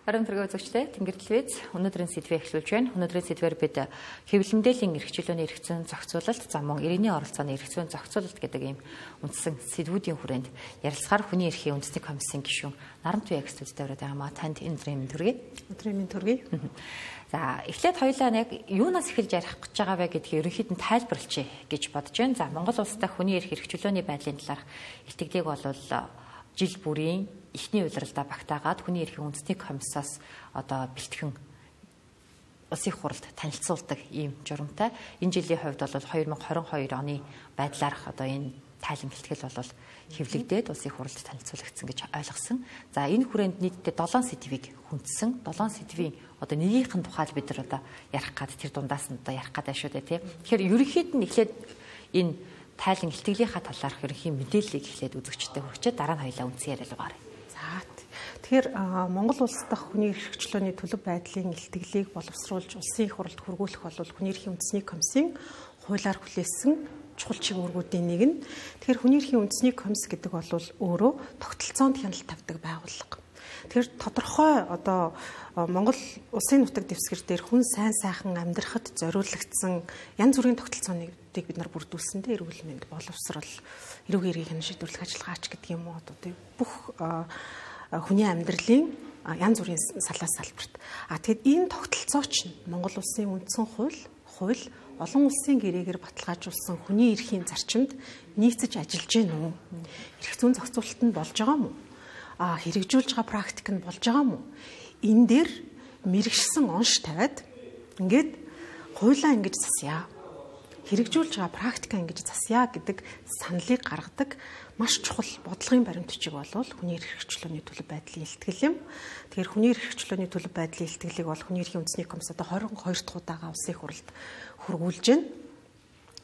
Харин тэргээ үзэгчтэй Тэнгэр телевиз өнөөдрийн сэдвээ эхлүүлж байна. Өнөөдрийн сэдвээр бид хэвлэл мэдээллийн эрх чөлөөний эрх зүйн зохицуулалт, за мөн иргэний оролцооны эрх зүйн зохицуулалт гэдэг ийм үндсэн сэдвүүдийн хүрээнд ярилцахаар хүний эрхийн үндэсний комиссийн гишүүн Нарант Туяа студид ороод байгаа маа танд өдрийн мэнд төргий. Өдрийн мэнд төргий. За эхлээд хоёулаа яг юунаас эхэлж ярих гэж байгаа вэ гэдгийг ерөнхийд нь тайлбарлачих гэж бодож байна. За Монгол улстай хүний эрх чөлөөний байдлын талаарх илтгэдэг бол жил бүрийн эхний удирдалдаа багтаагаад хүний эрхийн үндэсний комиссаас одоо бэлтгэн улсын хурлд танилцуулдаг ийм журамтай. Энэ жилийн хувьд бол 2022 оны байдлаарх одоо энэ тайлан бэлтгэл бол хэвлэгдээд улсын хурлд танилцуулагдсан гэж ойлгосон. За энэ хүрээнд нийтдээ 7 сэдвийг хүндсэн. 7 сэдвийн одоо нэгийнх нь тухай бид нар одоо ярих гад тэр дундаас нь одоо ярих гэдэг шүү дээ тий. Тэгэхээр ерөнхийд нь эхлээд энэ тайлан илтгэлийнхаа талаарх ерөнхий мэдээллийг эхлээд үзэгчдэд хүргэчээ дараа нь хоёлаа үндсэн яриа руу гарах. Тэгэхээр Монгол улс дахь хүний эрх чөлөөний төлөв байдлын илтгэлийг боловсруулж улсын их хурлд хүргүүлэх бол хүний эрхийн үндэсний комиссийн хуулиар хүлээсэн чухал чиглэлүүдийн нэг нь. Тэгэхээр хүний эрхийн үндэсний комисс гэдэг бол өөрөө тогтолцоонд хяналт тавьдаг байгууллага. Тэгэхээр тодорхой одоо Монгол улсын нутаг дэвсгэр дээр хүн сайн сайхан амьдрахад зориулагдсан янз бүрийн тогтолцооныг бид нар бүрдүүлсэн дээ. Эрүүл мэнд, боловсрол, эрүүл хэргийн шийдвэрлэх ажиллагаач гэдэг юм уу одоо бүх хүний амьдралын янз бүрийн салаас салбарт. Тэгэд энэ тогтолцооч нь Монгол улсын үндсэн хууль олон улсын гэрээгээр баталгаажуулсан хүний эрхийн зарчимд нийцэж ажиллаж байна уу? Эрх зүйн зохицуулалт нь болж байгаа мó? Хэрэгжүүлж байгаа практик нь болж байгаа мó? Энэ дээр мэрэгшсэн онш тавиад ингээд хуулаа ингэж засъя. Хэрэгжүүлж байгаа практика ингэж засъя гэдэг саналыг гаргадаг маш чухал бодлогын баримт бичиг бол хүний эрх чөлөөний төлөв байдлын илтгэл юм. Тэгэхээр хүний эрх чөлөөний төлөв байдлын илтгэлийг бол хүний эрхийн үндэсний комисс одоо 22 дахь удаага улсын хурлд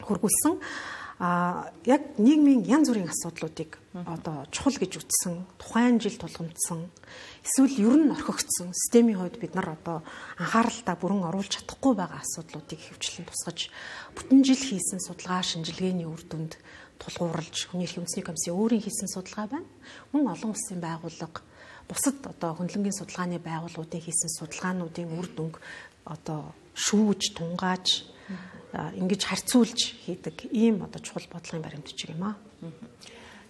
хүргүүлсэн. Яг нийгмийн янз бүрийн асуудлуудыг одоо чухал гэж үзсэн, тухайн жил тулгамдсан, эсвэл ер нь орхигдсон системийн хувьд бид нар одоо анхааралтай бүрэн оруулж чадахгүй байгаа асуудлуудыг хэвчлэн тусгаж бүтэн жил хийсэн судалгаа шинжилгээний үр дүнд тулгуурлаж хүний эрхийн үндэсний комиссийн өөрийн хийсэн судалгаа байна. Мөн олон улсын байгууллага бусад одоо хөндлөнгийн судалгааны байгууллагуудын хийсэн судалгаануудын үр дүнг одоо шүүж, тунгааж ингэж харьцуулж хийдэг ийм одоо чухал бодлогын баримт бичиг юм аа.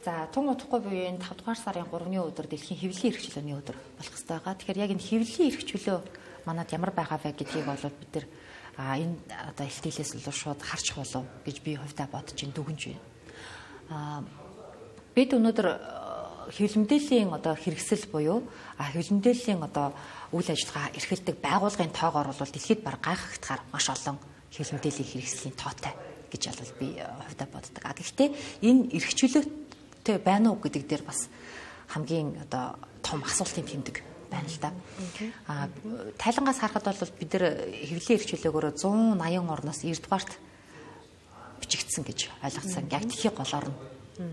За тун утгагүй буюу энэ 5 дугаар сарын 3-ны өдөр дэлхийн хэвлэлийн эрх чөлөөний өдөр болох ёстой байгаа. Тэгэхээр яг энэ хэвлэлийн эрх чөлөө манад ямар байгаа вэ гэдгийг бол бид нар энэ одоо илтгэлээс л шууд харж болов гэж би хувьдаа бодож ин дүгнж байна. Бид өнөөдөр хэвлэл мэдээллийн одоо хэрэгсэл буюу хэвлэл мэдээллийн одоо үйл ажиллагаа эрхэлдэг байгууллагын тоогоор бол дэлхийд баг гайхагтахаар маш олон хэвлэл мэдээллийн хэрэгслийн тоотой гэж бол би хувьдаа боддог. Гэхдээ энэ эрх чөлөөтэй байна уу гэдэг дээр бас хамгийн одоо том асуултын тэмдэг байна л да. Тайлангаас харахад бол бид нар хэвлэлийн эрх чөлөөгөөр 180 орноос 90 дугаарт бичигдсэн гэж ойлгосон. Яг дэлхийн голоор нь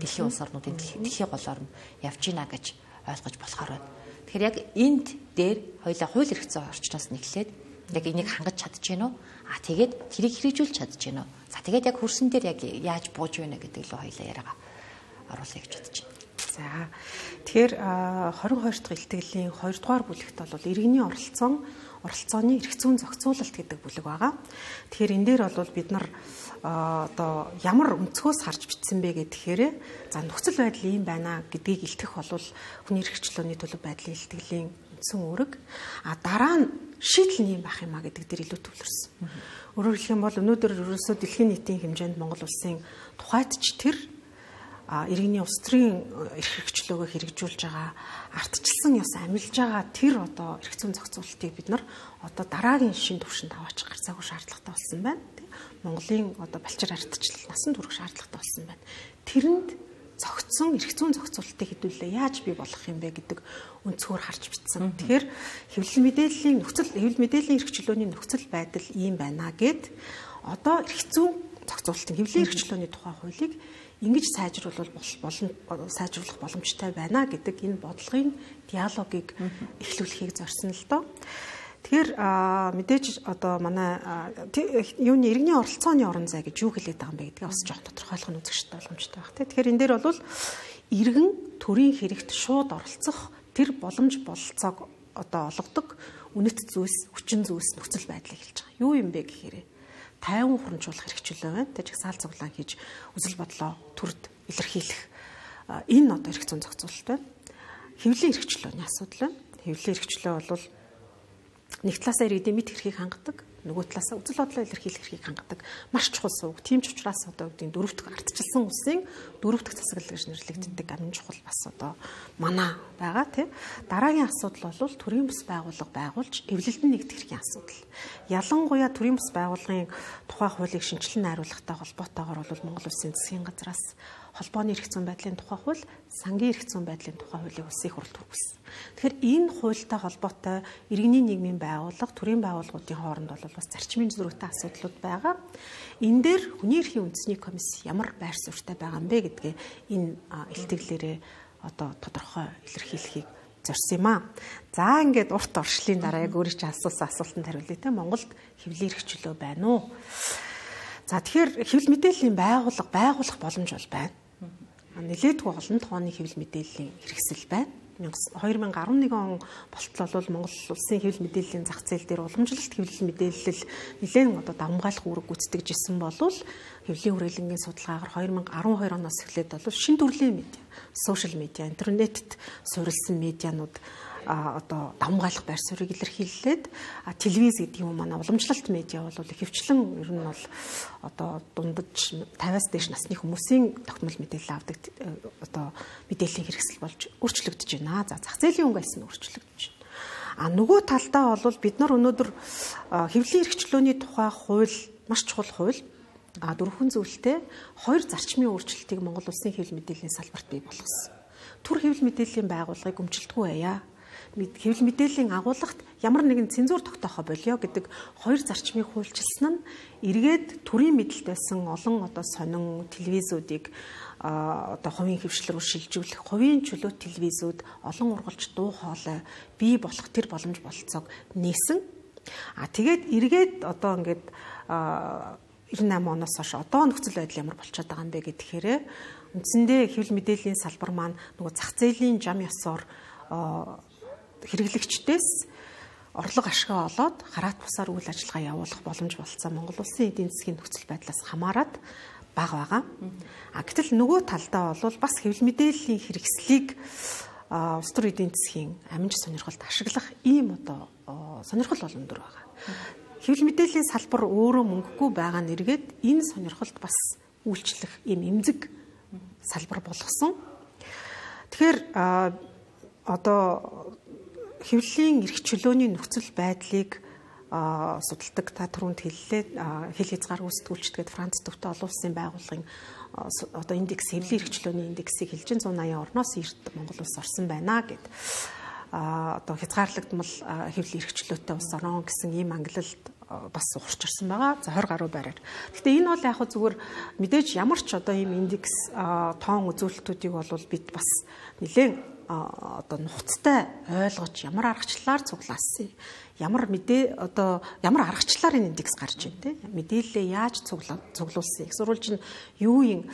дэлхийн улс орнуудын дэлхийн голоор нь явж гинэ гэж ойлгож болохоор байна. Тэгэхээр яг энд дээр хоёулаа хууль эрх зүйн орчноос нь эхлээд яг энийг хангаж чадж гинэ үү? Тэгээд тэрийг хэрэгжүүлж чадж гинэ үү? За тэгээд яг хөрсөн дээр яг яаж бууж байна гэдэг л хоёулаа яриагаа оруулъя гэж бодож байна. За тэгэхээр 22 дахь илтгэлийн 2 дугаар бүлэгт бол иргэний оролцооны эрх зүйн зохицуулалт гэдэг бүлэг байгаа. Тэгэхээр энэ дээр бол бид нар одоо ямар өнцгөөс харж бичсэн бэ гэхээр за нөхцөл байдал ийм байна гэдгийг илтгэх бол хүний эрх чөлөөний төлөв байдлын илтгэлийн үндсэн үүрэг. Дараа нь шийдэл нь юм байх юмаа гэдэг дээр илүү төвлөрсөн. Өөрөөр хэлэх юм бол өнөөдөр ерөөсөө дэлхийн нийтийн хэмжээнд Монгол улсын тухайд ч тэр иргэний улс төрийн эрх чөлөөгөө хэрэгжүүлж байгаа ардчилсан ёс амилж байгаа тэр одоо эрх зүйн зохицуулалтыг бид нар одоо дараагийн шин түвшинд аваач гарцаагүй шаардлагатай болсон байна. Монголын одоо балчир ардчлал насан турш шаардлагатай болсон байна. Тэрэнд зохицсон эрх зүйн зохицуулалтыг хэдүүлээ яаж бий болох юм бэ гэдэг өнцгөр харж бичсэн. Тэгэхээр хэвлэл мэдээллийн эрх чөлөөний нөхцөл байдал ийм байна гэд одоо эрх зүйн зохицуулалтын хэвлэлийн эрх чөлөөний тухай хуулийг ингэж сайжруулах боломжтой байна гэдэг энэ бодлогын диалогийг эхлүүлэхийг зорьсон л доо. Тэгэхээр мэдээж одоо манай юуны иргэний оролцооны орон зай гэж юу хэлээд байгаа юм бэ гэдгийг бас жоохон тодорхойлох нь үзэгчтэй боломжтой байх. Тэгэхээр энэ дээр бол иргэн төрийн хэрэгт шууд оролцох тэр боломж бололцоог одоо олгодог үнэт зүйлс, хүчин зүйлс нөхцөл байдлыг хэлж байгаа. Юу юм бэ гэхээр тайван хурамжуулах хэрэгчлөө байна. Тэ жагсаал цуглаан хийж үзэл бодлоо төрд илэрхийлэх энэ одоо эрх зүйн зохицуулалт байна. Хэвлэлийн хэрэгчлөөний асуудал байна. Хэвлэлийн хэрэгчлөө бол нэг талаасаа иргэдийн мэд хэрхийг хангадаг, нөгөө талаасаа үзэл бодлоо илэрхийлэх хэрхийг хангадаг. Маш чухал сувг. Тийм ч учраас одоо үгдийн дөрөвдөх ардчилсан улсын дөрөвдөх засаглал гэж нэрлэгддэг амин чухал бас одоо манаа байгаа тий. Дараагийн асуудал бол төрийн бус байгууллага байгуулж эвлэлдэн нэгдэх хэргийн асуудал. Ялангуяа төрийн бус байгууллагын тухай хуулийг шинжилэн найруулахтай холбоотойгоор бол Монгол Улсын засгийн газраас холбооны эрх зүйн байдлын тухай хууль, сангийн эрх зүйн байдлын тухай хуулийг улсын хурлд хүргэсэн. Тэгэхээр энэ хуультай холбоотой иргэний нийгмийн байгууллага, төрийн байгууллагуудын хооронд бол бас зарчмын зөрүүтэй асуудлууд байгаа. Энэ дээр хүний эрхийн үндэсний комисс ямар байр суурьтай байгаа юм бэ гэдгээ энэ илтгэлээрээ одоо тодорхой илэрхийлэхийг зорьсон юм аа. За ингээд урт оршлын дараа яг өөрөө чинь асуусан асуултанд хариулъя те. Монголд хэвлэлийн эрхчлөө байна уу? За тэгэхээр хэвлэл мэдээллийн байгууллага байгуулах боломж бол байна. Нэлээдгүй олон тооны хэвлэл мэдээллийн хэрэгсэл байна. 2011 он болтол бол Монгол Улсын хэвлэл мэдээллийн зах зээл дээр уламжлалт хэвлэл мэдээлэл нэлээд одоо давмгайлах үүрэг гүйцэтгэжсэн болвол хэвлэлийн хүрээлэнгийн судалгаагаар 2012 оноос эхлээд бол шинэ төрлийн медиа, сошиал медиа, интернетэд суурилсан медианууд одоо давмгайлах байр суурийг илэрхийллээд телевиз гэдэг юм манай уламжлалт медиа бол ихэвчлэн ер нь бол одоо дундаж 50-аас дээш насны хүмүүсийн тогтмол мэдээлэл авдаг одоо мэдээллийн хэрэгсэл болж өөрчлөгдөж байна. За зах зээлийн өнгө альс нь өөрчлөгдөж байна. Нөгөө талдаа бол бид нар өнөөдөр хэвлэлийн эрхчлөөний тухай хууль маш чухал хууль дөрвөн зүйлтэй хоёр зарчмын өөрчлөлтийг Монгол Улсын хэвлэл мэдээллийн салбарт бий болгосон. Түр хэвлэл мэдээллийн байгууллагыг өмчлөлтгүй байя. Хэвлэл мэдээллийн агуулгад ямар нэгэн цензуур тогтоохоо болио гэдэг хоёр зарчмыг хуульчилсан нь эргээд төрийн мэдэлд байсан олон одоо сонин телевизүүдийг одоо хувийн хөвшлөр шилжүүлэх, хувийн чөлөө телевизүүд олон ургалж дуу хоолой бий болох тэр боломж бололцоог нээсэн. Тэгээд эргээд одоо ингээд 98 оноос хойш одоо нөхцөл байдал ямар болчиход байгаа юм бэ гэхээр үндсэндээ хэвлэл мэдээллийн салбар маань нөгөө зах зээлийн зам ёсоор хэрэглэгчдээс орлого ашгаа олоод хараат бусаар үйл ажиллагаа явуулах боломж болцсон Монгол Улсын эдийн засгийн нөхцөл байдлаас хамаарат бага байгаа. Гэтэл нөгөө талдаа бол бас хэвлэл мэдээллийн хэрэгслийг улс төр эдийн засгийн аминч сонирхолд ашиглах ийм одоо сонирхол бол өндөр байгаа. Хэвлэл мэдээллийн салбар өөрөө мөнгөгүй байгаа нэргээд энэ сонирхолд бас үйлчлэх ийм эмзэг салбар болгосон. Тэгэхээр одоо хэвлэлийн эрх чөлөөний нөхцөл байдлыг судалдаг та түрүүнд хэллээ хэл хязгаар үүсгүүлчдгээд Франц төвтэй олон улсын байгууллагын одоо индекс хэвлэлийн эрх чөлөөний индексийг хэлж 180 орноос эрт Монгол улс орсон байна гэд одоо хязгаарлагдмал хэвлэлийн эрх чөлөөтэй улс орно гэсэн ийм ангилалд бас ухарч ирсэн байгаа. За 20 гаруй байраар. Гэхдээ энэ бол яг зүгээр мэдээж ямар ч одоо ийм индекс тоон үзүүлэлтүүдийг бол бид бас нэлээд одоо нухацтай ойлгож ямар аргачлалаар цуглаасан ямар аргачлалаар энэ индекс гарч байна те мэдээлэлээ яаж цуглуулсан их сурвалж нь юу юм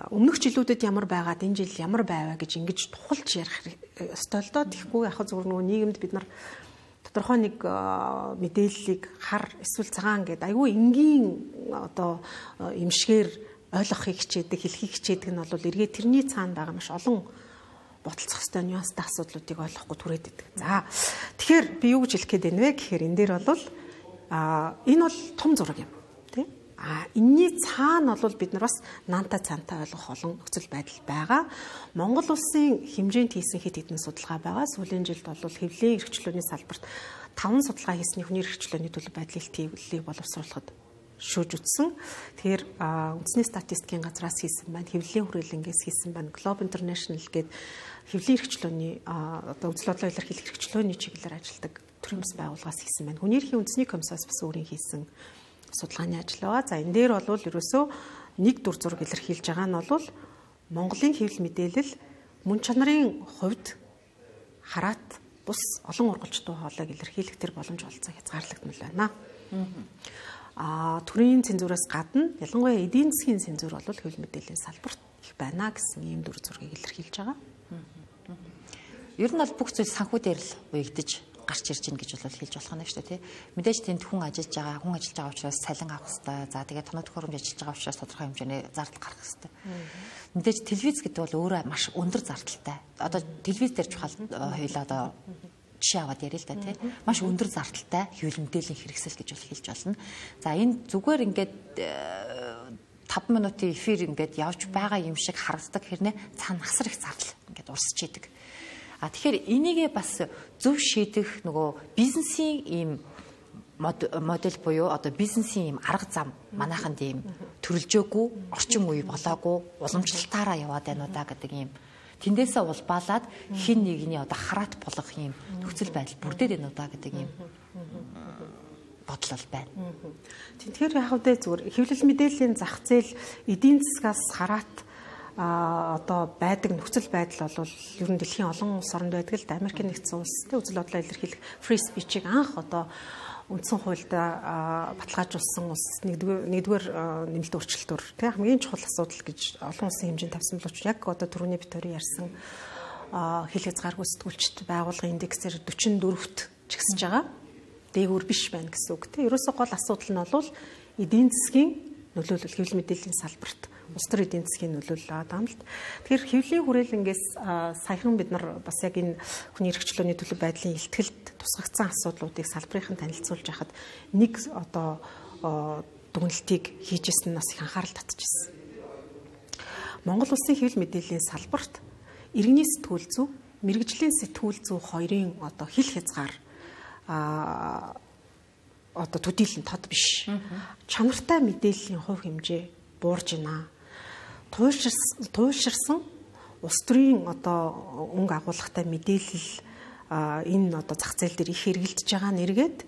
өмнөх жилүүдэд ямар байгаад энэ жил ямар байваа гэж ингэж тухалж ярих ёстой л доо тэгэхгүй яг зүгээр нөгөө нийгэмд бид нар тодорхой нэг мэдээллийг хар эсвэл цагаан гэдэг айгүй энгийн одоо эмшгээр ойлгохыг хичээдэг хэлхийг хичээдэг нь бол эргээ тэрний цаана байгаа маш олон бодлоцох ёстой нюанстай асуудлуудыг ойлгохгүй түрээд идэг. За тэгэхээр би юу гэж хэлэх гээд байна вэ гэхээр энэ дээр бол энэ бол том зураг юм тий. Энэний цаана бол бид нар бас наантай цаантай ойлгох олон нөхцөл байдал байгаа. Монгол улсын хэмжээнд хийсэн хэд хэдэн судалгаа байгаа. Сүүлийн жилд бол хэвлэлийн эрх чөлөөний салбарт 5 судалгаа хийсний хүний эрх чөлөөний төлөв байдлын төвлөлийг боловсруулахад шүүж үтсэн. Тэгэхээр үндэсний статистикийн газраас хийсэн байна, хэвлэлийн хүрээлэнгээс хийсэн байна, Globe International гээд хэвлэлийн эрх чөлөөний одоо үзэл бодлоо илэрхийлэх эрх чөлөөний чиглэлээр ажилладаг төрийн бас байгууллагаас хийсэн байна. Хүний эрхийн үндэсний комиссаас бас өөрийн хийсэн судалгааны ажил байгаа. За энэ дээр бол ерөөсөө нэг дүр зураг илэрхийлж байгаа нь бол Монголын хэвлэл мэдээлэл мөн чанарын хувьд хараат бус олон ургалж дуу хоолойг илэрхийлэх тэр боломж олцоо хязгаарлагдмал байна. Төрийн цензураас гадна ялангуяа эдийн засгийн цензур бол хэвлэл мэдээллийн салбарт их байна гэсэн ийм дүр зургийг илэрхийлж байгаа. Ер нь бол бүх зүйл санхүү дээр л уягдаж гарч ирж гин гэж бол хэлж болох нь шүү дээ тий. Мэдээж тэнд хүн ажиллаж байгаа учраас салин авах хэрэгтэй. За тэгээд тоног төхөөрөмж ажиллаж байгаа учраас тодорхой хэмжээний зардал гарах хэрэгтэй. Мэдээж телевиз гэдэг бол өөрөө маш өндөр зардалтай. Одоо телевиз дээр чухал хоёлаа одоо жишээ аваад ярил л да тий. Маш өндөр зардалтай хэвлэл мэдээллийн хэрэгсэл гэж бол хэлж болно. За энэ зүгээр ингээд 5 минутын эфир ингээд явж байгаа юм шиг харагддаг хэрнээ цаана асар их зардал ингээд урсч идэг. Тэгэхээр энийгээ бас зөв шийдэх нөгөө бизнесийн ийм модель буюу одоо бизнесийн ийм арга зам манайханд ийм төрөлжөөгүй, орчин үе болоогүй, уламжлалтаараа яваад байна уу да гэдэг ийм тэндээсээ улбаалаад хин нэгний одоо хараат болох ийм нөхцөл байдал бүрдээд байна уу да гэдэг ийм бодлол байна. Тэгэхээр яг үдэ зүгээр хэвлэл мэдээллийн зах зээл эдийн засгаас хараат одоо байдаг нөхцөл байдал бол ер нь дэлхийн олон улс оронд байдаг л да. Америкийн нэгдсэн улс тэ үзэл бодлоо илэрхийлэх free speech-ийг анх одоо үндсэн хуульд баталгаажуулсан улс нэгдүгээр нэмэлт өөрчлөлтөөр тэ хамгийн чухал асуудал гэж олон улсын хэмжээнд тавьсан боловч яг одоо түрүүний битүүрийн ярьсан хил хязгааргүй сэтгүүлчд байгуулгын индексээр 44-т чигсэж байгаа. Дээгүүр биш байна гэсэн үг тийм. Ерөөсөө гол асуудал нь бол эдийн засгийн нөлөөлөл хэвлэл мэдээллийн салбарт улс төр эдийн засгийн нөлөөлөл байгаа юм л. Тэгэхээр хэвлэлийн хүрээлэнгээс саяхан бид нар бас яг энэ хүний эрхчлөөний төлөв байдлын илтгэлд тусгагдсан асуудлуудыг салбарынхан танилцуулж яхад нэг одоо дүгнэлтийг хийжсэн нь бас их анхаарал татчихсан. Монгол улсын хэвлэл мэдээллийн салбарт иргэний сэтгүүл зүй, мэрэгжлийн сэтгүүл зүй хоёрын одоо хил хязгаар одоо төдийлөн тод биш. Чанартай мэдээллийн хувь хэмжээ буурж байна. Туйлширсан улс төрийн одоо өнгө агуулгатай мэдээлэл энэ одоо зах зээл дээр их хэрэгжилж байгаа нэргээд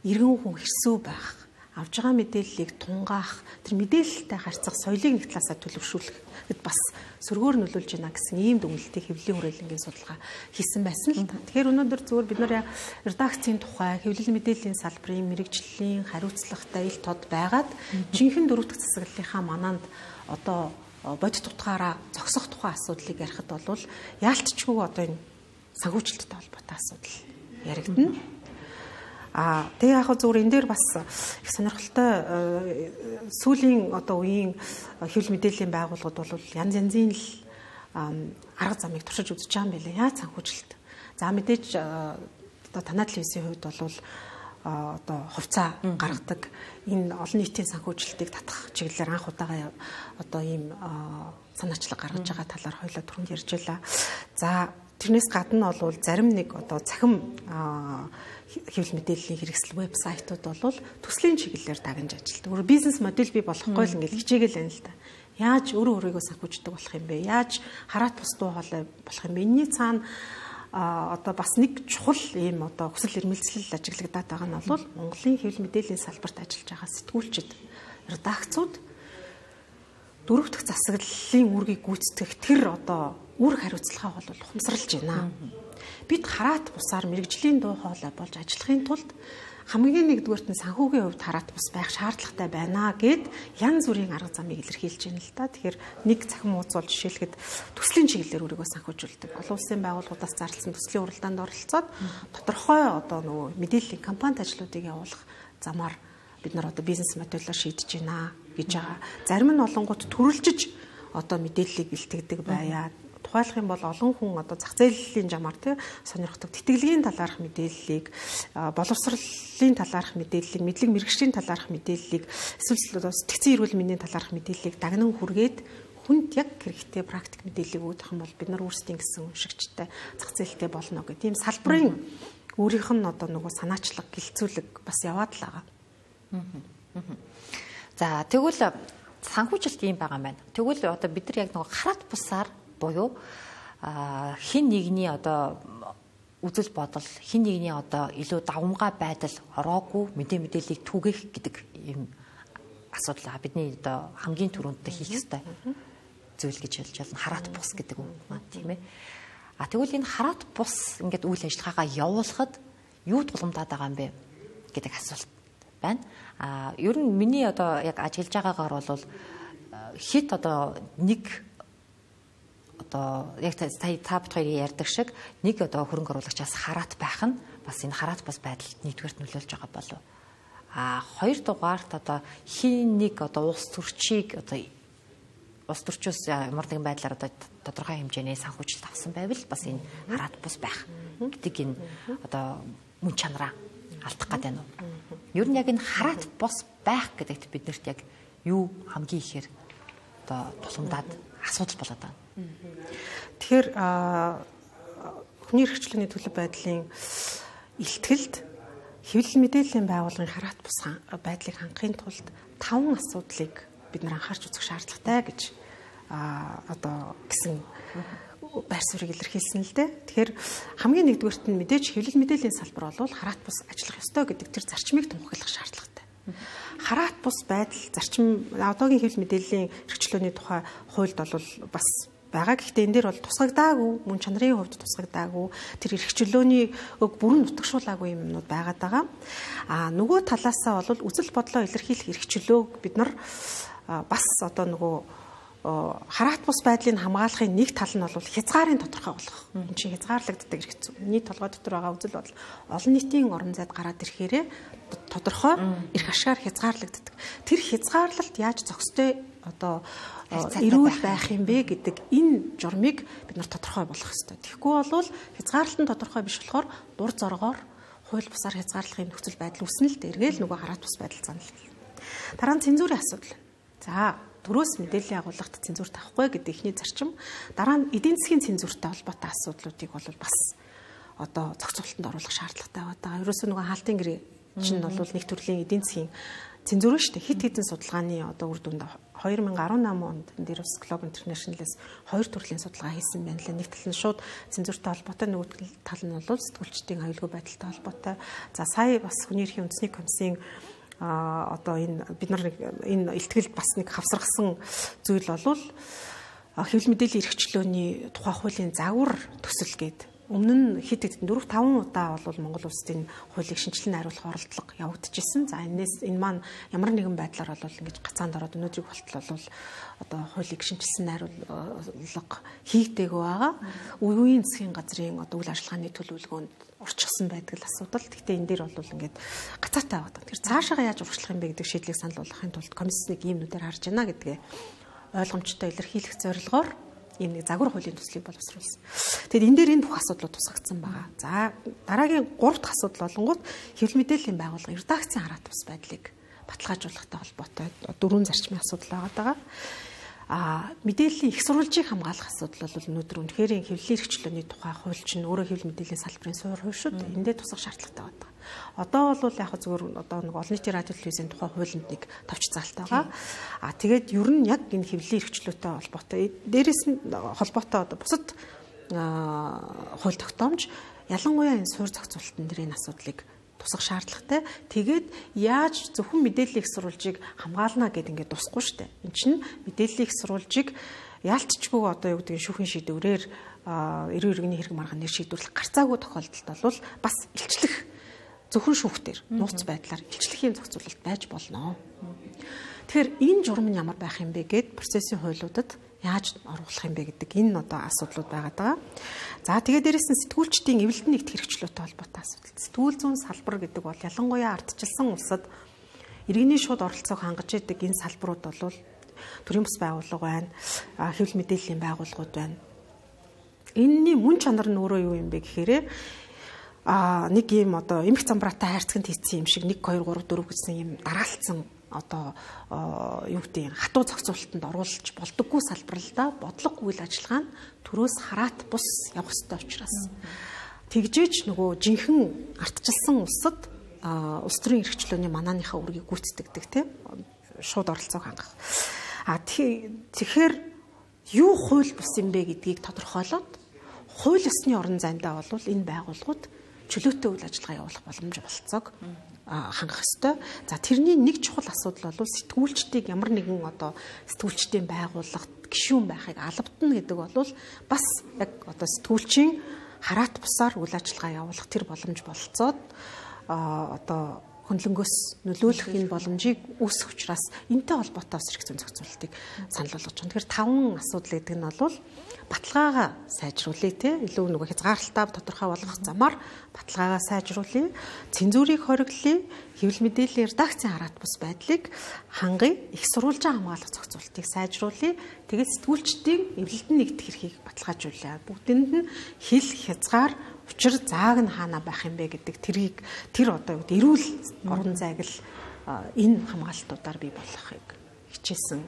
иргэн хүн хэрсүү байх, авж байгаа мэдээллийг тунгаах, тэр мэдээлэлтэй харьцах соёлыг нэг талаасаа төлөвшүүлэхэд бас сөргөөр нөлөөлж байна гэсэн ийм дүгнэлтийг хэвлэлийн хүрээлэнгийн судалгаа хийсэн байсан л та. Тэгэхээр өнөөдөр зүгээр бид нар редакцийн тухай хэвлэл мэдээллийн салбарын мэрэгжлийн хариуцлагатай ил тод байгаад жинхэнэ дөрөвдөг засаглалынхаа манаанд одоо бодит утгаараа зогсох тухай асуудлыг ярихад бол яалтчгүй одоо энэ санхүүжилттэй холбоотой асуудал яригдана. Тэгээ яг зүгээр энэ дээр бас их сонирхолтой сүүлийн одоо үеийн хэвлэл мэдээллийн байгууллагууд бол янз янзын л арга замыг туршиж үзэж байгаа юм билээ. Яаж санхүүжилт. За мэдээж одоо танай телевизийн хувьд бол одоо хувьцаа гаргадаг энэ олон нийтийн санхүүжилтийг татах чиглэлээр анх удаага одоо ийм санаачлаг гаргаж байгаа талаар хоёлаа түрүүнд ярьж байлаа. За тэрнээс гадна бол зарим нэг одоо цахим хэвлэл мэдээллийн хэрэгсэл вебсайтууд бол төслийн чиглэлээр дагнж ажилладаг. Өөрөөр бизнес модель бий болохгүй л ингээл хичээгээл байна л да. Яаж өөрийгөө санхүүждэг болох юм бэ? Яаж хараат бусдуу хоолой болох юм бэ? Энийний цаана одоо бас нэг чухал ийм одоо хүсэл эрмэлзэл ажиглагдаад байгаа нь бол Монголын хэвлэл мэдээллийн салбарт ажиллаж байгаа сэтгүүлчид, редакцууд дөрөв дэх засаглалын үүргийг гүйцэтгэх тэр одоо үүрэг хариуцлагаа бол ухамсарлаж байна. Бид хараат бусаар мэрэгжлийн дуу хоолой болж ажиллахын тулд хамгийн нэгдүгээрт нь санхүүгийн хувьд хараат бус байх шаардлагатай байна гэд янз бүрийн арга замыг илэрхийлж байна л да. Тэгэхээр нэг цахим ууцуул жишээлхэд төслийн чиглэлээр өөрийгөө санхүүжүүлдэг. Олон улсын байгууллагуудаас зарласан төслийн уралдаанд оролцоод тодорхой одоо нөгөө мэдээллийн кампанит ажлуудыг явуулах замаар бид нар одоо бизнес модельээр шийдэж байна гэж байгаа. Зарим нь олонгууд төрөлжиж одоо мэдээллийг илтгэдэг байяа. Тухайлах юм бол олон хүн одоо зах зээлийн жамаар тий сонирхдаг тэтгэлгийн талаарх мэдээллийг, боловсролын талаарх мэдээллийг, мэдлэг мэргэжлийн талаарх мэдээллийг, эсвэл сэтгцэн эрүүл мэндийн талаарх мэдээллийг дагнан хүргээд хүнд яг хэрэгтэй практик мэдээллийг өгөх юм бол бид нар өөрсдийн гэсэн уншигчтай зах зээлтэй болно гэх тийм салбарын өөрийнх нь одоо нөгөө санаачлаг гэлцүүлэг бас яваад л байгаа. За тэгвэл санхүүжилт юм байгаа юм байна. Тэгвэл одоо бид нар яг нөгөө хараат бусаар буюу хин нэгний одоо үзэл бодол, хин нэгний одоо илүү давмгай байдал ороогүй мэдээллийг түгээх гэдэг юм асуудал бидний одоо хамгийн түрүүндээ хийх ёстой зүйл гэж хэлж байна. Хараат бус гэдэг үг маань тийм ээ. Тэгвэл энэ хараат бус ингээд үйл ажиллагаагаа явуулахад юу тулгамдаад байгаа юм бэ гэдэг асуулт байна. Ер нь миний одоо яг ажиллаж байгаагаар бол хит одоо нэг одоо яг та бит хоёрын ярьдаг шиг нэг одоо хөрөнгө оруулагчаас хараат байх нь бас энэ хараат бус байдалд нэгдүгээрт нөлөөлж байгаа болов. Хоёрдугаарт одоо хин нэг одоо улс төрчийг одоо улс төрчөөс ямар нэгэн байдлаар одоо тодорхой хэмжээний санхүүжилт авсан байвал бас энэ хараат бус байх гэдэг энэ одоо мөн чанараа алдах гэдэг нь. Ер нь яг энэ хараат бус байх гэдэгт биднэрт яг юу хамгийн ихээр одоо тулгамдаад асуудал болоод байна. Тэгэхээр хүний эрхчлөөний төлөв байдлын илтгэлд хэвлэл мэдээллийн байгууллагын хараат бус байдлыг хангахын тулд 5 асуудлыг бид нар анхаарч үзэх шаардлагатай гэж одоо гэсэн байр суурийг илэрхийлсэн л дээ. Тэгэхээр хамгийн нэгдүгээрт нь мэдээж хэвлэл мэдээллийн салбар бол хараат бус ажиллах ёстой гэдэг тэр зарчмыг тунхаглах шаардлагатай. Хараат бус байдал зарчим одоогийн хэвлэл мэдээллийн эрхчлөөний тухай хуульд бол бас байгаа. Гэхдээ энэ дээр бол тусгагдаагүй, мөн чанарын хувьд тусгагдаагүй, тэр эрхчлөөний бүрэн нутагшуулаагүй юмнууд байгаад байгаа. Нөгөө талаасаа бол үзэл бодлоо илэрхийлэх эрхчлөөг бид нар бас одоо нөгөө хараат бус байдлыг хамгаалахын нэг тал нь бол хязгаарын тодорхой болгох. Энэ чинь хязгаарлагддаг эрх зүйн. Нийт толгой дотор байгаа үзэл бодол олон нийтийн орон зайд гараад ирэхээрээ тодорхой эрх ашгаар хязгаарлагддаг. Тэр хязгаарлалт яаж зохистой одоо эрүүл байх юм бэ гэдэг энэ журмыг бид нар тодорхой болгох ёстой. Тэгэхгүй бол хязгаарлалт нь тодорхой биш болохоор дур зоргоор хууль бусаар хязгаарлахын нөхцөл байдал үүснэ л дээргээл нөгөө хараат бус байдал занал. Дараа нь цензурын асуудал. За төрөөс мэдээллийн агуулгад цензур тавихгүй гэдэг ихний зарчим. Дараа нь эдийн засгийн цензуртай холбоотой асуудлуудыг бол бас одоо зохицуулалтанд оруулах шаардлагатай байгаа. Ерөөсөө нөгөө хаалтын гэрээ чинь бол нэг төрлийн эдийн засгийн цензур шүү дээ. Хит хитэн судалгааны одоо үр дүнд 2018 онд энэ дээр бас Globe International-ээс 2 төрлийн судалгаа хийсэн байна лээ. Нэг тал нь шууд цензуртай холбоотой, нөгөө тал нь бол сэтгүүлчдийн аюулгүй байдалтай холбоотой. За сая бас хүний эрхийн үндэсний комиссийн одоо энэ бид нар энэ илтгэлд бас нэг хавсаргасан зүйл болвол хэвлэл мэдээллийн эрхчлөөний тухай хуулийн загвар төсөл гээд өмнө нь хэд 4-5 удаа бол Монгол улсын хуулийг шинжилэн найруулах оролдлого явагдчихсэн. За энэс энэ маань ямар нэгэн байдлаар бол ингэж гацаанд ороод өнөөдрийг болтол бол одоо хуулийг шинжилсэн найруулга хийгдээгүй байгаа. Үеийн засгийн газрын одоо үйл ажиллагааны төлөвлөгөөнд орчихсон байдаг л асуудал. Гэхдээ энэ дээр бол ингээд гацаатай байгаа. Тэр цаашаа яаж урагшлах юм бэ гэдэг шийдлийг санал болгохын тулд комиссийг иймнүүдээр харж байна гэдгээ ойлгомжтой илэрхийлэх зорилгоор ийм нэг загвар хуулийн төслийг боловсруулсан. Тэгэд энэ дээр энэ бүх асуудлууд тусгагдсан байгаа. За дараагийн 3 дахь асуудал болонгууд хэвлэл мэдээллийн байгууллага редакцийн хараат бус байдлыг баталгаажуулахтай холбоотой 4 зарчмын асуудал байгаа. Мэдээллийн их сурвалжийг хамгаалах асуудал бол өнөөдөр үнэхээр хэвлэлийн эрхчлөөний тухай хууль чинь өөрөө хэвлэл мэдээллийн салбарын суурь хууль шүү дээ. Эндээ тусах шаардлагатай байна. Одоо бол яг зөвхөн одоо нэг олон нийтийн радио телевизийн тухай хуулинд нэг товч заалтай байгаа. Тэгээд ер нь яг энэ хэвлэлийн эрхчлөөтэй холбоотой дээрээс нь холбоотой одоо бусад хууль тогтоомж ялангуяа энэ суурь зохицуулалтын дээр энэ асуудлыг тусах шаардлагатай. Тэгээд яаж зөвхөн мэдээллийн их сурвалжийг хамгаална гэдээ ингээд тусахгүй шүү дээ. Энд чинь мэдээллийн их сурвалжийг яалтчгүй одоо юу гэдэг шүүхийн шийдвэрээр эрүүл иргэний хэрэг маргаан нэр шийдвэрлэх гарцаагүй тохиолдолд бол бас илчлэх зөвхөн шүүхтэр нууц байдлаар илчлэх юм зохицуулалт байж болно. Тэгэхээр энэ журам нь ямар байх юм бэ гэд процессын хуулиудад яаж оруулах юм бэ гэдэг энэ одоо асуудлууд байгаад байгаа. За тэгээд дээрэс нь сэтгүүлчдийн эвлэлд нэгт хэрэгчлөөтэй холбоотой асуудал. Сэтгүүл зүүн салбар гэдэг бол ялангуяа ардчилсан улсад иргэний шууд оролцоог хангаж идэг энэ салбарууд бол төрийн бас байгууллага байна, хэвлэл мэдээллийн байгууллагууд байна. Энэний мөн чанар нь өөрөө юу юм бэ гэхээр нэг юм одоо эмх замбраатай хайрцагт хийсэн юм шиг 1 2 3 4 гэсэн юм дараалцсан одоо юу гэдэг хатуу зохицуулалтанд оруулж болдоггүй салбар л да бодлого үйл ажиллагаа нь төрөөс хараат бус явах ёстой учраас тэгжээж нөгөө жинхэнэ ардчилсан улсад улс төрийн эрхчлөөний манааныхаа үргийг гүйцэтгэдэг тийм шууд оролцоог хангах. Тэгэхээр юу хууль бус юм бэ гэдгийг тодорхойлоод хууль ёсны орон зайдаа бол энэ байгууллагууд чөлөөтэй үйл ажиллагаа явуулах боломж болцоог хангах ёстой. За тэрний нэг чухал асуудал бол сэтгүүлчдийг ямар нэгэн одоо сэтгүүлчдийн байгууллагт гишүүн байхыг албадна гэдэг бол бас яг одоо сэтгүүлчийн хараат бусаар үйл ажиллагаа явуулах тэр боломж болцоод одоо хөндлөнгөөс нөлөөлөх энэ боломжийг үүсгэх учраас энэтэй холбоотой бас эрх зүйн зохицуулалтыг санал болгож байна. Тэгэхээр 5 асуудал гэдэг нь бол баталгаагаа сайжруулъя те илүү нөгөө хязгаарлалтаа тодорхой болгох замаар баталгаагаа сайжруулъя, цензурыг хориглоё, хэвлэл мэдээллийн редакцийн хараат бус байдлыг хангая, их сурвалжаа хамгаалах зохицуулалтыг сайжруулъя. Тэгээд сэтгүүлчдийн эвлэлтэнд нэгдэх эрхийг баталгаажуулъя. Бүгдэнд нь хил хязгаар учир зааг нь хаана байх юм бэ гэдэг тэр одоо эрүүл орон зайг л энэ хамгаалтуудаар бий болгохыг хичээсэн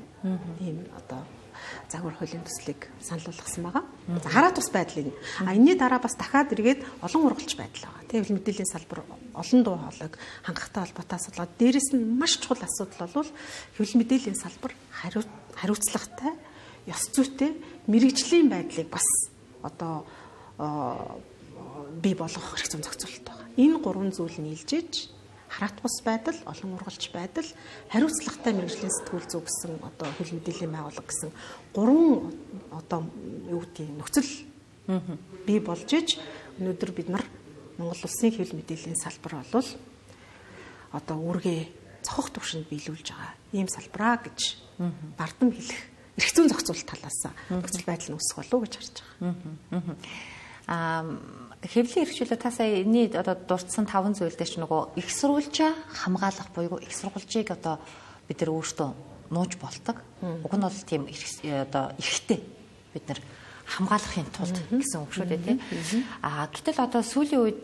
ийм одоо загвар хуулийн төслийг санал болгосон байгаа. За хараат ус байдал энэ. Энэний дараа бас дахиад эргээд олон ургалч байдал байгаа. Хэвлэл мэдээллийн салбар олон дуу хоолойг хангахтай холбоотой асуудал. Дээрээс нь маш чухал асуудал бол хэвлэл мэдээллийн салбар хариуцлагатай, ёс зүйтэй мэрэгжлийн байдлыг бас одоо бий болгох эрх зүйн зохицуулалт байгаа. Энэ 3 зүйл нийлжиж хараат бус байдал, олон ургалч байдал, хариуцлагатай мэргэжлийн сэтгүүл зүй гэсэн одоо хэвлэл мэдээллийн байгууллага гэсэн 3 одоо юу гэдэг нөхцөл бий болж иж өнөөдөр бид нар Монгол улсын хэвлэл мэдээллийн салбар бол одоо үүргээ цохох түвшинд биелүүлж байгаа ийм салбараа гэж бардам хэлэх эрх зүйн зохицуулалт талаас нөхцөл байдал нь үүсэх болов уу гэж харж байгаа. Хэвлэлийн эрхчлөлөө та сая энэний одоо дурдсан 5 зүйл дээр ч нөгөө их сурвалжаа хамгаалах буюу их сурвалжийг одоо бид нар өөртөө нууж болдог. Уг нь бол тийм одоо эрхтэй бид нар хамгаалахын тулд гэсэн үг шүү дээ тийм. Гэтэл одоо сүүлийн үед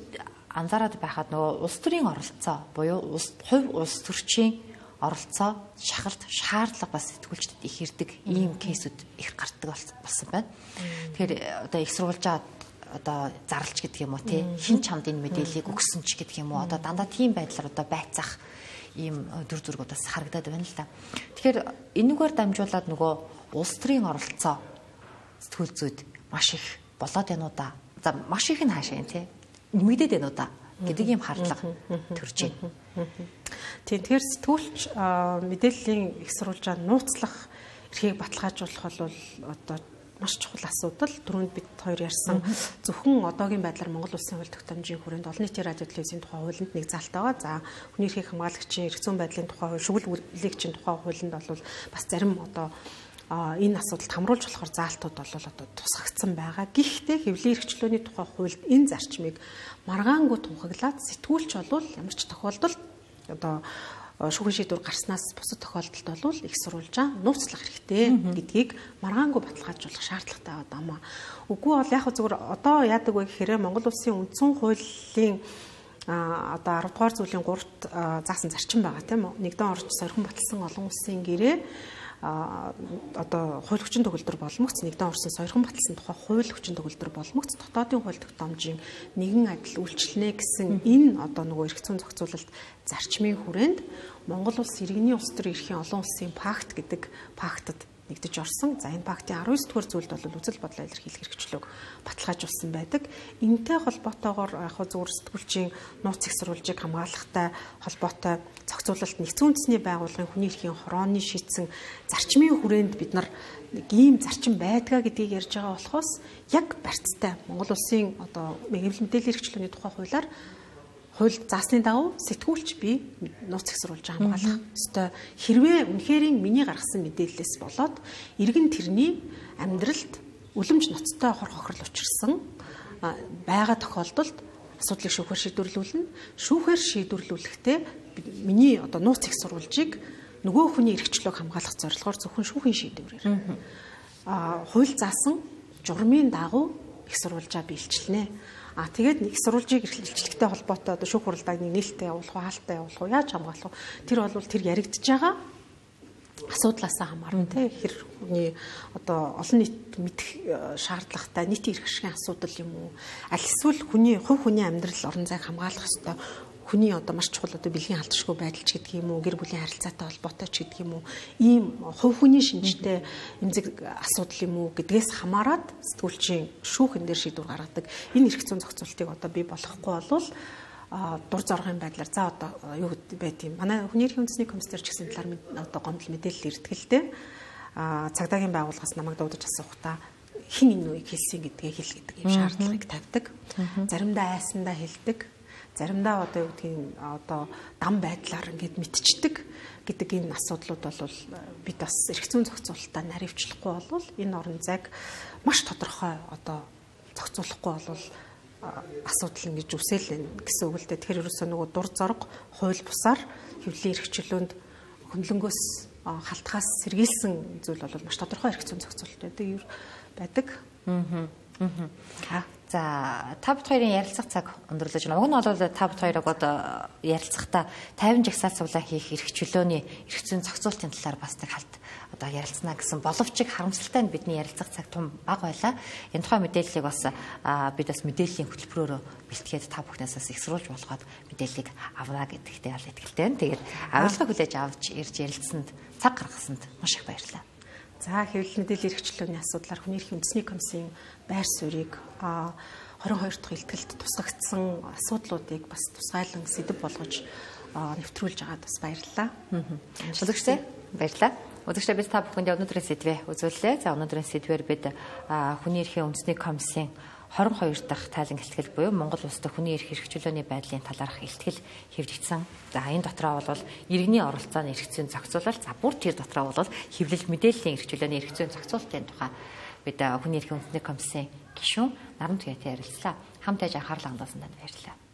анзаараад байхад нөгөө улс төрийн оролцоо буюу хувь улс төрчийн оролцоо, шахалт, шаардлага бас сэтгүүлчдэд их ирдэг ийм кейсүүд их гардаг болсон байна. Тэгэхээр одоо их сурвалжаа одоо зарлж гэдэг юм уу тий хин чамд энэ мэдээллийг өгсөн ч гэдэг юм уу одоо дандаа тийм байдлаар одоо байцаах ийм дүр зургуудаас харагдаад байна л да. Тэгэхээр энэгээр дамжуулаад нөгөө улс төрийн оролцоо сэтгүүл зүйд маш их болоод байна уу да. За маш их нь хаашаа юм тий нэмэгдээд байна уу да гэдэг ийм хардлага төрж байна. Тэгэхээр сэтгүүлч мэдээллийн их сурвалжаа нууцлах эрхийг баталгаажуулах бол одоо маш чухал асуудал. Түрүүнд бид хоёр ярьсан зөвхөн одоогийн байдлаар Монгол улсын хууль тогтоомжийн хүрээнд олон нийтийн радио телевизийн тухай хуулинд нэг залт байгаа. За хүний эрхийг хамгаалагчийн эрх зүйн байдлын тухай хууль, шүгэл үйлчлэгчийн тухай хуулинд бол бас зарим одоо энэ асуудалд хамруулж болохоор заалтууд бол одоо тусгагдсан байгаа. Гэхдээ хэвлэлийн эрхчлөөний тухай хуульд энэ зарчмыг маргаангүй тунхаглаад сэтгүүлч бол ямар ч тохиолдолд одоо шүүхийн шийдвэр гарснаас бусад тохиолдолд бол их сурвалжаа нууцлах хэрэгтэй гэдгийг маргаангүй баталгаажуулах шаардлагатай байна. Үгүй бол яг зүгээр одоо яадаг вэ гэхээр Монгол улсын үндсэн хуулийн одоо 10 дугаар зүйлийн 3-т заасан зарчим байгаа тийм үү? Нэгдэн орж сорхон баталсан олон улсын гэрээ одоо хууль хүчин төгөлдөр боломгц нэгдэн орсон сойрхон баталсан тухай хууль хүчин төгөлдөр боломгц дотоодын хууль тогтоомжийн нэгэн адил үйлчлэнэ гэсэн энэ одоо нөгөө эрх зүйн зохицуулалт зарчмын хүрээнд Монгол улс иргэний улс төр эрхийн олон улсын пакт гэдэг пактад нэгдэж орсон. За энэ пактын 19 дугаар зүйлд бол үзэл бодлоо илэрхийлэх хэрэгчлөөг баталгаажуулсан байдаг. Энэтэй холбоотойгоор яг зөвхөн сэтгүүлчийн нууц их сурвалжийг хамгаалахтай холбоотой зохицуулалт нэгдсэн үндэсний байгууллагын хүний эрхийн хорооны шийдсэн зарчмын хүрээнд бид нар ийм зарчим байдгаа гэдгийг ярьж байгаа болохоос яг барьцтай Монгол улсын одоо хэвлэл мэдээллийн хэрэгчлөөний тухай хуулиар хууль заасны дагуу сэтгүүлч би нууц их сурвалжаа хамгаалах ёстой. Хэрвээ үнэхэрийн миний гаргасан мэдээллээс болоод иргэн тэрний амьдралд үлэмж ноцтой хор хохирол учирсан байгаа тохиолдолд асуудлыг шүүхээр шийдвэрлүүлнэ. Шүүхээр шийдвэрлүүлэхдээ миний одоо нууц их сурвалжийг нөгөө хүний эрхчлөөг хамгаалах зорилгоор зөвхөн шүүхийн шийдвэрээр хууль заасан журмын дагуу их сурвалжаа биелжлэнэ. Тэгээд их сурвалжийг эрхлэлчлэгтэй холбоотой одоо шүүх хуралдааг нээлттэй явуулах уу, хаалттай явуулах уу, яаж хамгаалах уу? Тэр бол тэр яригдж байгаа асуудлаасаа хамаарна тий. Хэр хүний одоо олон нийт мэдэх шаардлагатай нийтийн эрх ашигын асуудал юм уу? Аль эсвэл хүний хувь хүний амьдрал орон зайг хамгаалах ёстой хүний одоо маш чухал одоо бэлгийн халдшгүй байдал ч гэдэг юм уу, гэр бүлийн харилцаатай холбоотой ч гэдэг юм уу, ийм хувь хүний шинжтэй эмзэг асуудал юм уу гэдгээс хамаарат сэтгүүлчийн шүүхэн дээр шийдвэр гаргадаг. Энэ эрх зүйн зохицуултыг одоо бий болохгүй болвол дур зоргын байдлаар за одоо юу байт юм. Манай хүний эрхийн үндэсний комиссар ч гэсэн талаар одоо гомдол мэдээлэл ирдгэлтэй цагдаагийн байгууллагаас намайг дуудаж асуухтаа хин энэ үеийг хэлсэн гэдгээ хэл гэдэг юм шаардлагыг тавьдаг. Заримдаа айсандаа хэлдэг. заримдаа одоо юу гэдгийг одоо дам байдлаар ингээд мэдчихдэг гэдэг энэ асуудлууд бол бид бас эрх зүйн зохицуулалтаа наривчлахгүй болвол энэ орон зайг маш тодорхой одоо зохицуулахгүй болвол асуудал ингэж үсэлэн гэсэн үг л дээ. Тэгэхээр ерөөсөө нөгөө дур зориг, хууль бусаар хэвлэлийн эрх чөлөөнд хөндлөнгөөс халтгаас сэргийлсэн зүйл бол маш тодорхой эрх зүйн зохицуулалт байдаг. За та бид хоёрын ярилцах цаг өндөрлөж байна. Уг нь бол та бид хоёрыг одоо ярилцахдаа 50 жагсаал цуглаан хийх эрх чөлөөний эрх зүйн зохицуулалтын талаар бас нэг халт одоо ярилцсана гэсэн боловч харамсалтай нь бидний ярилцах цаг том бага байлаа. Энэ тухай мэдээллийг бас бид бас мэдээллийн хөтөлбөрөөр бэлтгээд та бүхнээс их сурвалж болгоод мэдээллийг авна гэдэгтээ ял итгэлтэй байна. Тэгээд авилга хүлээж авч ирж ярилцсанд цаг гаргасанд маш их баярлалаа. За хэвлэл мэдээллийн эрх чөлөөний асуудлаар хүний эрхийн үндэсний комиссийн байр суурийг 22 дахь илтгэлд тусгагдсан асуудлуудыг бас тусгайлан сэдэв болгож нэвтрүүлж байгаад бас баярлалаа. Үзэгчдээ баярлалаа. Үзэгчдээ бид та бүхэнд өнөөдрийн сэдвээ үзүүллээ. За өнөөдрийн сэдвээр бид хүний эрхийн үндэсний комиссийн 22 дахь тайлан илтгэл буюу Монгол улсад хүний эрх чөлөөний байдлын талаарх илтгэл хэвлэгдсэн. За энэ дотроо бол иргэний оролцооны эрх зүйн зохицуулалт, за бүр тэр дотроо бол хэвлэл мэдээллийн эрх чөлөөний эрх зүйн зохицуулалтын тухай бид хүний эрхийн үндэсний комиссийн гишүүн Наран Туяатай ярилцлаа. Хамт байж анхаарлаа хандуулсанд баярлалаа.